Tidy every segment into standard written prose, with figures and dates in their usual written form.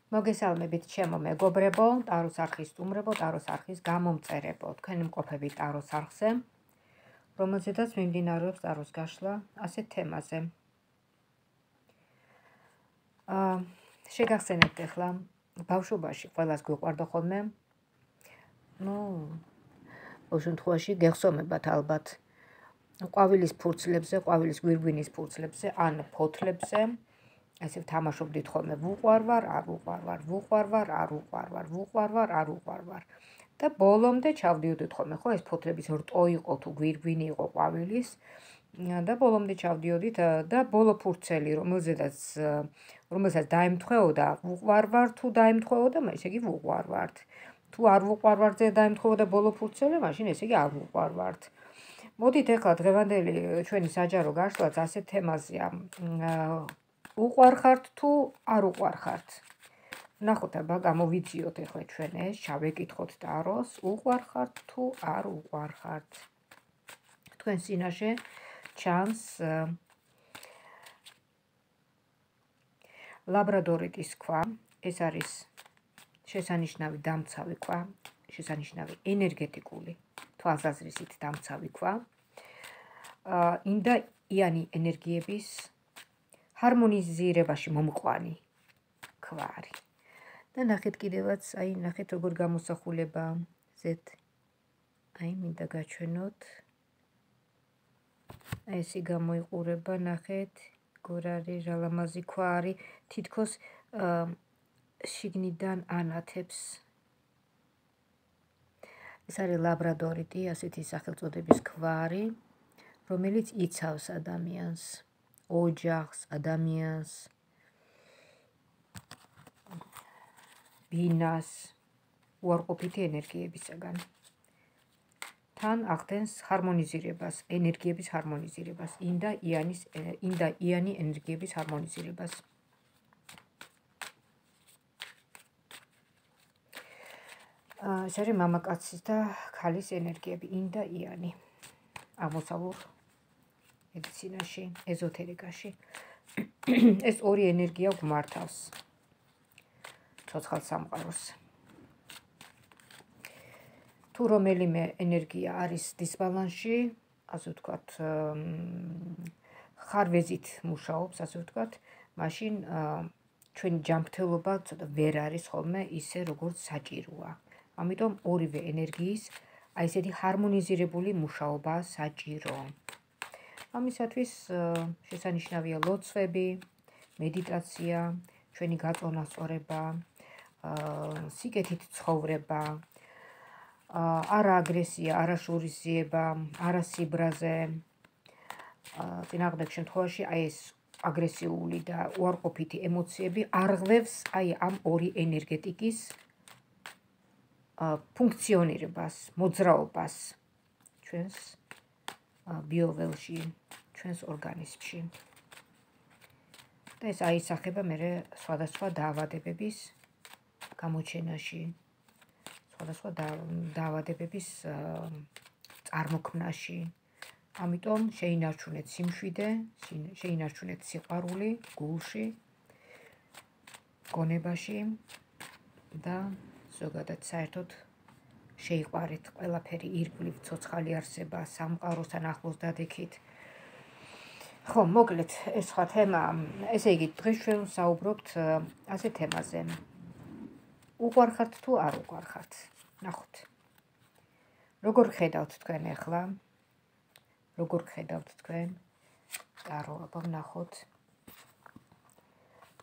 მოგესალმებით ჩემო მეგობრებო, ტაროს არხის სტუმრებო, ტაროს არხის გამომწერებო. თქვენი მყოფები ტაროს არხზე, რომელზედაც მიმდინარეობს ტაროს გაშლა ასეთ თემაზე. შეგახსენებთ ახლა ბავშვობაში ყველას გვიყვარდა ხოლმე. ყოველ შემთხვევაში გეხსომებათ ალბათ ყვავილის ფურცლებზე, ყვავილის გვირგვინის ფურცლებზე ან ფოთლებზე. ესე ვთამაშობდით ხოლმე ვუყვარვარ, არ ვუყვარვარ, ვუყვარვარ, არ ვუყვარვარ, ვუყვარვარ, არ ვუყვარვარ. და ბოლომდე ჩავდიოდით ხოლმე, ხო, ეს ფოთლების რტო იყო თუ გვირგვინი იყო ყვავილის და ბოლომდე ჩავდიოდით და ბოლო ფურცელი, რომელსაც დაემთხვეოდა ვუყვარვარ, თუ დაემთხვეოდა, ესე იგი ვუყვარვართ. თუ არ ვუყვარვართ და დაემთხვეოდა ბოლო ფურცელი, მაშინ ესე იგი არ ვუყვარვართ. მოდით ახლა დღევანდელი ჩვენი საჯარო გაშლაც ასეთ თემაზეა. უყვარხართ თუ არ უყვარხართ. ნახოთ აბა გამოვიძიოთ ახლა ჩვენ ეს, ჩავეკითხოთ ტაროს, უყვარხართ თუ არ უყვარხართ. თქვენ წინაშე ჩანს ლაბრადორიტის ქვა, ეს არის შესანიშნავი დამცავი ქვა, შესანიშნავი ენერგეტიკული თვალსაზრისით დამცავი ქვა. ინდაიანი ენერგიების ჰარმონიზირებაში მომყვანი ქვა არის. და ნახეთ კიდევაც, ნახეთ როგორ გამოსახულება ზეთ. მინდა გაჩვენოთ. ესე გამოიყურება, ნახეთ, როგორ არის, რა ლამაზი ქვა არის, თითქოს შიგნიდან ანათებს. ეს არის ლაბრადორიტი, ასეთი სახელწოდების ქვა არის, რომელიც იცავს ადამიანს, ოჯახს, ადამიანს, ბინას, უარყოფითი ენერგიებისაგან. თან ახდენს ჰარმონიზირებას, ენერგიების ჰარმონიზირებას, ინდაიანი ენერგიების ჰარმონიზირებას. ეს არის მამაკაცის და ქალის ენერგიები, ინდაიანი. აღმოსავლურ მედიცინაში, ეზოთერიკაში. ეს ორი ენერგია გვმართავს ცოცხალ სამყაროს. თუ რომელიმე ენერგია არის დისბალანსში, ასე ვთქვათ, ხარვეზით მუშაობს, ასე ვთქვათ, მაშინ ჩვენი ჯანმრთელობა ცოტა ვერ არის ხოლმე ისე, როგორც საჭიროა. ამიტომ ორივე ენერგიის ესეთი ჰარმონიზირებული მუშაობა საჭირო. ამისათვის შესანიშნავია ლოცვები, მედიტაცია, ჩვენი გაწონასწორება, სიკეთით ცხოვრება, არა აგრესია, არა შურისძიება, არა სიბრაზე. წინააღმდეგ შემთხვევაში ეს აგრესიული და უარყოფითი ემოციები არღვევს ამ ორი ენერგეტიკის ფუნქციონირებას, მოძრაობას ჩვენს ბიოველში, ჩვენს ორგანიზმში. და ეს აისახება მერე სხვადასხვა დაავადებების გამოჩენაში, სხვადასხვა დაავადებების წარმოქმნაში. ამიტომ შეინარჩუნეთ სიმშვიდე, შეინარჩუნეთ სიყვარული გულში, გონებაში და ზოგადად საერთოდ შეიყვარეთ ყველაფერი, ირგვლივ ცოცხალი არსება, სამყაროსთან ახლოს დადექით. ხო, მოკლედ, ეს სხვა თემა. ესე იგი, დღეს ჩვენ ვსაუბრობთ ასეთ თემაზე. უყვარხართ თუ არ უყვარხართ. ნახოთ. როგორ ხედავთ თქვენ ახლა? როგორ ხედავთ თქვენ? ტარო, აბა ვნახოთ.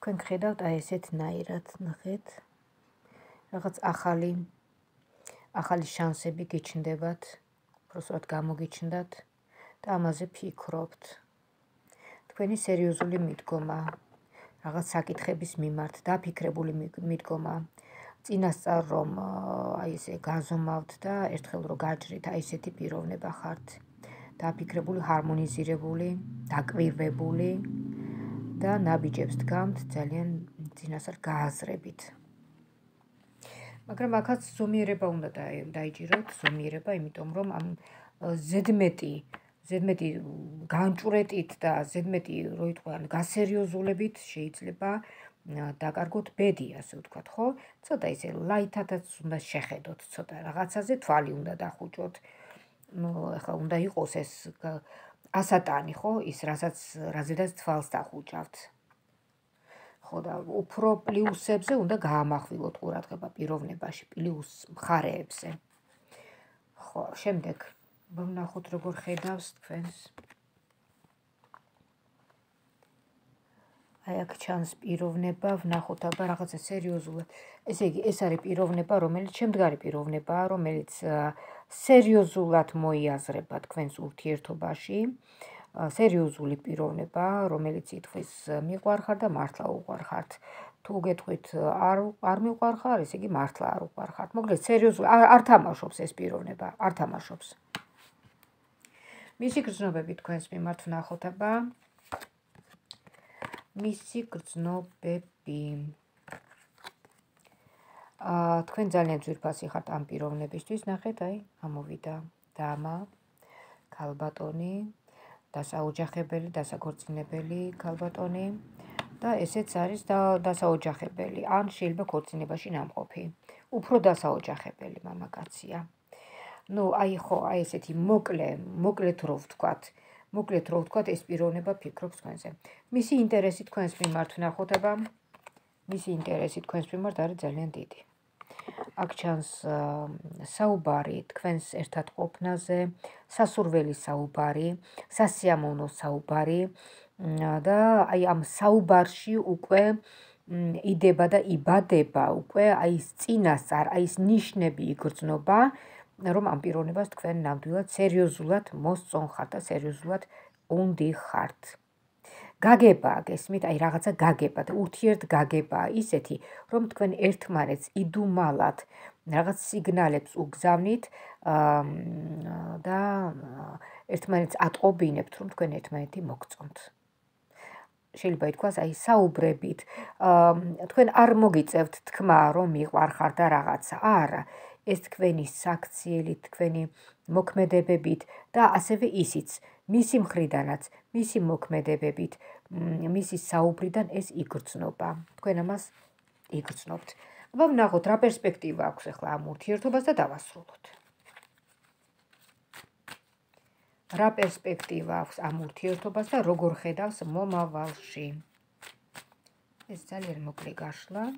თქვენ ხედავთ ესეთნაირად, ნახეთ. რაღაც ახალი შანსები გიჩნდებათ, უბრალოდ გამოგიჩნდათ და ამაზე ფიქრობთ. თქვენი სერიოზული მიდგომა, რაღაც საკითხების მიმართ, დაფიქრებული მიდგომა, წინასწარ რომ ესე გაზომავთ და ერთხელ რომ გაჭრით, ესეთი პიროვნება ხართ. დაფიქრებული, ჰარმონიზირებული, დაკვირვებული და ნაბიჯებს დგამთ ძალიან წინასწარ გააზრებით. მაგრამ აქაც ზომიერება უნდა დაიჭიროთ, ზომიერება, იმიტომ რომ ამ ზედმეტი განჭვრეტით და ზედმეტი, რო იტყვიან, გასერიოზულებით შეიძლება დაკარგოთ ბედი, ასე ვთქვათ, ხო? ცოტა ისე ლაითადაც უნდა შეხედოთ, ცოტა რაღაცაზე თვალი უნდა დახუჭოთ. ახლა უნდა იყოს ეს ასატანი, ხო? ის რაზედაც თვალს დახუჭავთ. ხო და უფრო პლუსებზე უნდა გაამახვილოთ ყურადღება პიროვნებაში, პლუს მხარეებზე. ხო, შემდეგ ვნახოთ როგორ ხედავს თქვენს. აი აქ ჩანს პიროვნება, ვნახოთ აბა რაღაცა სერიოზულად. ესე იგი, ეს არის პიროვნება, რომელიც შემდგარი პიროვნებაა, რომელიც სერიოზულად მოიაზრება თქვენს ურთიერთობაში. სერიოზული პიროვნება, რომელიც ითქვის მიყვარხარ და მართლა უყვარხართ. თუ გეტყვით არ მიყვარხარ, ესე იგი მართლა არ უყვარხართ. მოკლედ სერიოზული არ თამაშობს ეს პიროვნება, არ თამაშობს. მისი გრძნობები თქვენს მიმართ ვნახოთ აბა. მისი გრძნობები. თქვენ ძალიან ძვირფასი ხართ ამ პიროვნებისთვის, ნახეთ, აი, ამოვიდა დამა, ქალბატონი, დასაოჯახებელი, დასაქორწინებელი ქალბატონი და ესეც არის დასაოჯახებელი, ან შეიძლება ქორწინებაში ნამყოფი. უფრო დასაოჯახებელი მამაკაცია. ნუ აი ხო, აი ესეთი მოკლედ რო ვთქვათ, ეს პიროვნება ფიქრობს თქვენზე. მისი ინტერესი თქვენს მიმართ ვნახოთ აბა. მისი ინტერესი თქვენს მიმართ არის ძალიან დიდი. აქ ჩანს საუბარი თქვენს ერთად ყოფნაზე, სასურველი საუბარი, სასიამოვნო საუბარი და აი ამ საუბარში უკვე იდება და იბადება უკვე აი ეს წინასწარ, აი ეს ნიშნები იგრძნობა, რომ ამ პიროვნებას თქვენ ნამდვილად სერიოზულად მოსწონხართ და სერიოზულად უნდიხართ. გაგებაა, გესმით, აი რაღაცა გაგება და ურთიერთგაგებაა ისეთი, რომ თქვენ ერთმანეთს იდუმალად რაღაც სიგნალებს უგზავნით და ერთმანეთს ატყობინებთ, რომ თქვენ ერთმანეთი მოგწონთ. შეიძლება ითქვას, აი საუბრებით, თქვენ არ მოგიწევთ თქმა, რომ მიყვარხარ და რაღაცა, არა. ეს თქვენი საქციელით, თქვენი მოქმედებებით და ასევე ისიც, მისი მხრიდანაც, მისი მოქმედებებით, მისი საუბრიდან ეს იგრძნობა. თქვენ ამას იგრძნობთ. აბა ვნახოთ, რა პერსპექტივა აქვს ახლა ამ ურთიერთობას და დავასრულოთ. რა პერსპექტივა აქვს ამ ურთიერთობას და როგორ ხედავს მომავალში. ეს ძალიან მოკლე გაშლა.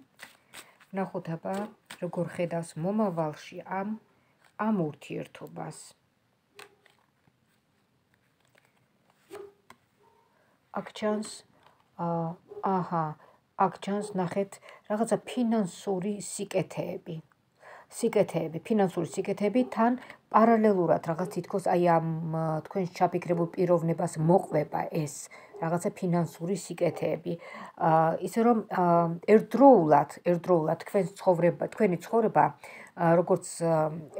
ვნახოთ აბა, როგორ ხედავს მომავალში ამ ურთიერთობას. აქ ჩანს, აქ ჩანს, ნახეთ, რაღაცა ფინანსური სიკეთეები. ფინანსური სიკეთეები თან პარალელურად რაღაც თითქოს აი ამ თქვენს ჩაფიქრებულ პიროვნებას მოყვება ეს რაღაცა ფინანსური სიკეთეები. ისე რომ ერთდროულად თქვენი ცხოვრება როგორც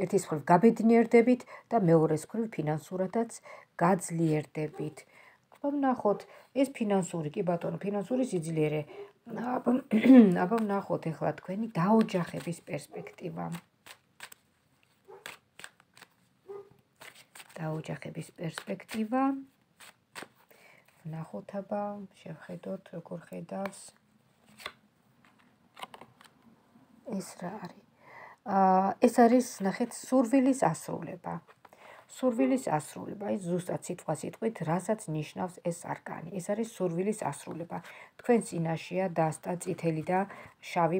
ერთის მხრივ გაბედნიერდებით და მეორეს მხრივ ფინანსურადაც გაძლიერდებით. ვნახოთ, ეს ფინანსური, კი ბატონო, ფინანსური სიძლიერე. აბა ვნახოთ ახლა თქვენი დაოჯახების პერსპექტივა. დაოჯახების პერსპექტივა. ვნახოთ აბა, შევხედოთ, როგორ ხედავს. ეს რა არის? ეს არის, ნახეთ, სურვილის ასრულება. სურვილის ასრულება, ის ზუსტად სიტყვით, რასაც ნიშნავს ეს არკანი. ეს არის სურვილის ასრულება. თქვენ წინაშეა დასტა წითელი და შავი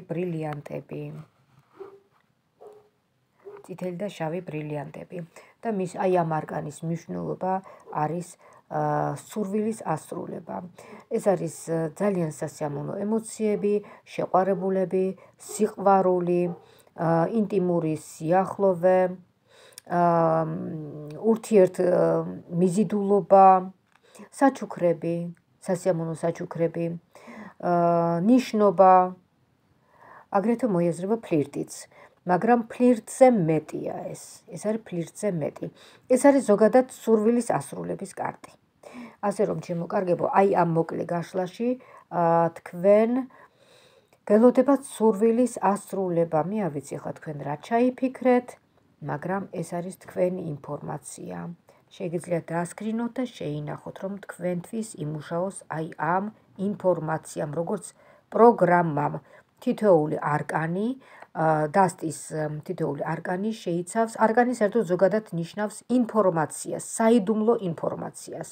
ბრილიანტები. და მის აი ამ არკანის მნიშვნელობა არის სურვილის ასრულება. ეს არის ძალიან სასიამოვნო ემოციები, შეყვარებულები, სიყვარული, ინტიმური სიახლოვე, ურთიერთმიზიდულობა, საჩუქრები, სასიამოვნო საჩუქრები, ნიშნობა, აგრეთვე მოიაზრება ფლირტიც. მაგრამ ფლირტზე მეტია ეს. ეს არის ფლირტზე მეტი. ეს არის ზოგადად სურვილის ასრულების კარტი. ასე რომ, ჩემო კარგებო, აი ამ მოკლე გაშლაში თქვენ გელოდებათ სურვილის ასრულება. მე არ ვიცი ხა თქვენ რა ჩაიფიქრეთ, მაგრამ ეს არის თქვენი ინფორმაცია. შეგიძლიათ დაასკრინოთ და შეინახოთ, რომ თქვენთვის იმუშაოს აი ამ ინფორმაციამ, როგორც პროგრამამ თითოეული არკანი დასტის თითოეული არკანი შეიცავს არკანი საერთოდ ზოგადად ნიშნავს ინფორმაციას, საიდუმლო ინფორმაციას.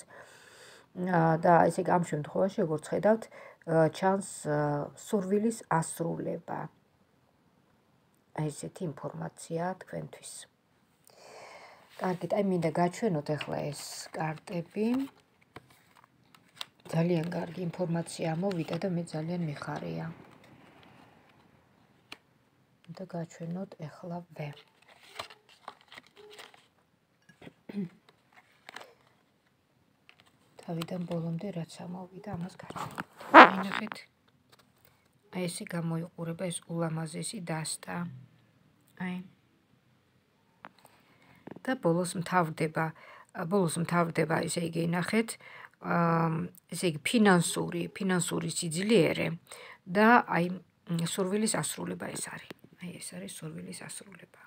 და ესე იგი ამ შემთხვევაში როგორც ხედავთ, ჩანს სურვილის ასრულება. ესეთი ინფორმაცია თქვენთვის. კარგით, აი მინდა გაჩვენოთ ახლა ეს კარტები. ძალიან კარგი ინფორმაცია მოვიდა და მე ძალიან მიხარია. და გაჩვენოთ ეხლავე. თავიდან ბოლომდე რაც ამოვიდა, ამას გაჩვენოთ. ნახეთ. აი ესე გამოიყურება ეს ულამაზესი დასტა. აი. და ბოლოს მთავრდება, ესე იგი, ნახეთ, ესე იგი ფინანსური სიძლიერე და აი სურვილის ასრულება ეს არის. აი ეს არის სურვილის ასრულება.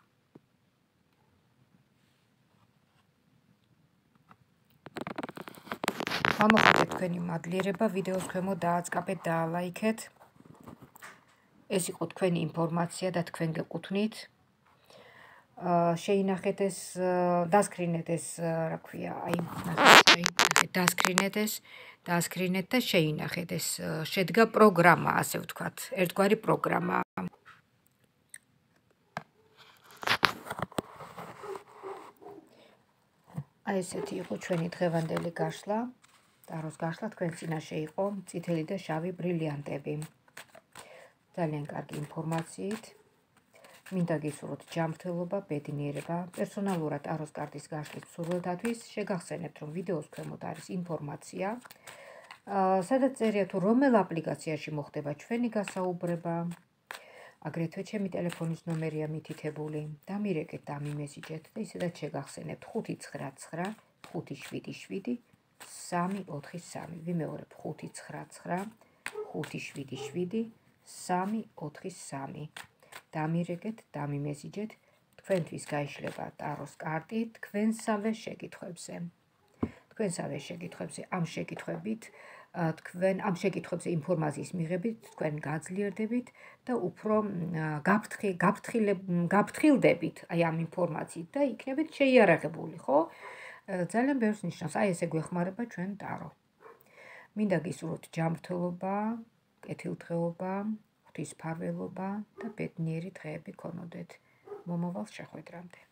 გამოხატეთ თქვენი მადლიერება, ვიდეოს ქვემოთ დააწყაბეთ, დაალაიქეთ. ეს იყო თქვენი ინფორმაცია და თქვენ გეკუთვნით. შეინახეთ ეს, დასკრინეთ ეს, რა ქვია, აი, დასკრინეთ და შეინახეთ ეს შედგა პროგრამა, ასე ვთქვათ, ერთგვარი პროგრამა. აი ესეთი იყო ჩვენი დღევანდელი გაშლა. ტაროს გაშლა თქვენ წინაშე იყო წითელი და შავი ბრილიანტები. ძალიან კარგი ინფორმაციით. მინდა გისურვოთ ჯანმრთელობა, ბედნიერება. პერსონალურად ტაროს კარტის გაშლის მსურველთათვის შეგახსენებთ, რომ ვიდეოს ქვემოთ არის ინფორმაცია, სადაც წერია თუ რომელ აპლიკაციაში მოხდება ჩვენი გასაუბრება. აგრეთვე ჩემი ტელეფონის ნომერია მითითებული. დამირეკეთ და ამიმესიჯეთ და ისედაც შეგახსენებთ 599 577 343. ვიმეორებ 599 577 343. დამირეკეთ, დამიმესიჯეთ, თქვენთვის გაიშლება ტაროს კარტი თქვენსავე შეკითხვებზე. ამ შეკითხვებზე ინფორმაციის მიღებით თქვენ გაძლიერდებით და უფრო გაფრთხილდებით აი ამ ინფორმაციით და იქნებით შეიარაღებული, ხო? ძალიან ბევრს ნიშნავს, აი ესე გვეხმარება ჩვენ ტარო. მინდა გისურვოთ ჯანმრთელობა, კეთილდღეობა, ღვთისმფარველობა და ბედნიერი დღეები გქონოდეთ. მომავალ შეხვედრამდე.